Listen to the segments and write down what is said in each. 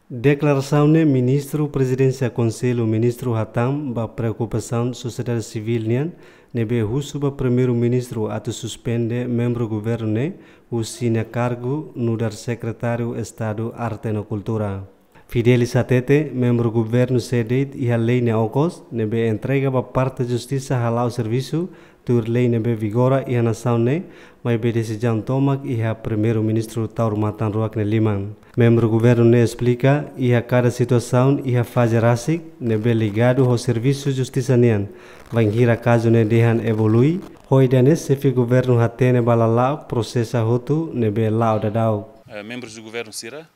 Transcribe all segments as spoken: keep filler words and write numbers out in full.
Deklarasaun ne'e Ministru Prezidénsia Konsellu Ministru hatán ba preokupasaun sosiedade sivíl nian, ne'ebé husu ba Primeiru-Ministru atu suspende membru governu ne'e husi nia kargu nu'udar Sekretáriu Estadu Arte no Kultura. Fidelis hatete, membru governu sei de'it iha lei nia okos, ne'ebé entrega ba parte justisa hala'o servisu, tuir lei ne'ebé vigora iha nasaun ne'e, maibé desizaun tomak iha Primeiru-Ministru Taur Matan Ruak nia liman. Membru governu ne'e esplika, iha kada situasaun iha faze rasik, ne'ebé ligadu ho servisu justisa nian. Bainhira kazu ne'e dehan evolui, ho ida-ne'e xefe governu hatene ba lala'ok prosesa hotu ne'ebé la'o daudaun. Eh, membros do governo sira,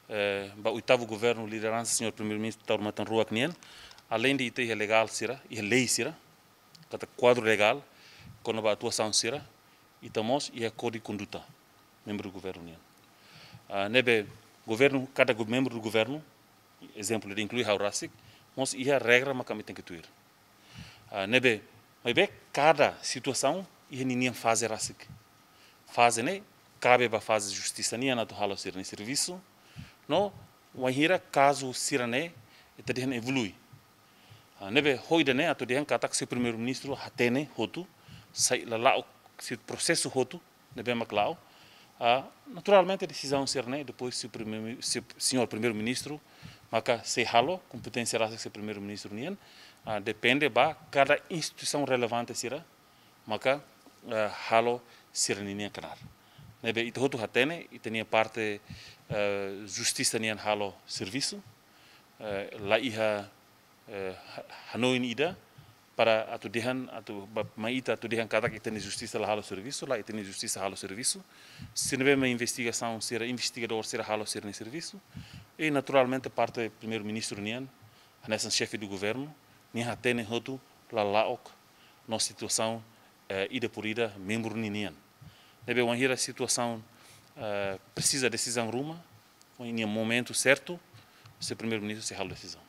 eh, ba oitavu governu lideransa señór Primeiru-Ministru Taur Matan Ruak nian, além de ita iha legál sira, iha lei sira, katak kuadru legál, kona-ba atuasaun sira, ita mós iha kódigu konduta membru governu nian. Ah, ne'ebé governu, kada go-, membru do governu, ezemplu, ida inklui ha'u rasik, mós iha regra mak ami tenke tuir. Ah, ne'ebé, maibé kada situasaun iha ninia faze rasik. Faze ne'e kabe ba faze justisa nian atu halo sira-nia servisu, no wainhira kazu sira-ne'e ita dehan evolui. Ah, ne'ebé ho ida-ne'e atu dehan katak señór Primeiru-Ministru hatene hotu, sai lala'ok, sei prosesu hotu ne'ebé mak la'o. Ah, naturalmente desizaun sira-ne'e depois señór Primeiru-Mi-, se-, señór Primeiru-Ministru maka sei halo, kompeténsia rasik señór Primeiru-Ministru nian, ah, depende ba kada instituisaun relevante sira maka, eh, halo sira-ninia knaar. Ne'ebé ita hotu hatene, ita-nia parte, eh, justisa nian halo servisu, eh, la iha, eh, ha-, hanoin ida, para atu dehan, atu ba-, mai ita atu dehan katak ita-nia justisa la halo servisu, lae, ita-nia justisa halo servisu. Se ne'ebé mak investigasaun sira, investigadór sira halo sira-nia servisu. I naturalmente parte Primeiru-Ministru nian, hanesan xefe do governu, nia hatene hotu lala'ok no situasaun, eh, ida por ida membru ninian. Ne'ebé wainhira situasaun, eh, presiza desizaun ruma, iha momentu sertu, señór Primeiru-Ministru sei halo desizaun.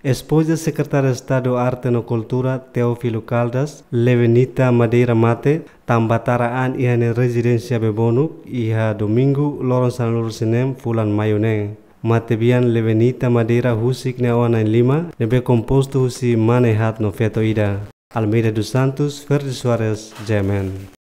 Espoza Sekretáriu Estadu Arte no Kultura, Teófilo Caldas, Levenita Madeira mate, tanba tara an iha nia rezidénsia Bebonuk, iha Domingu, loron sanulu-resin-neen, fulan Maiu ne'e. Matebian Levenita Madeira husik nia oan na'in-lima, ne'ebé kompostu husi mane haat no feto ida. Almeida dos Santos, Ferdi Soares, G M N.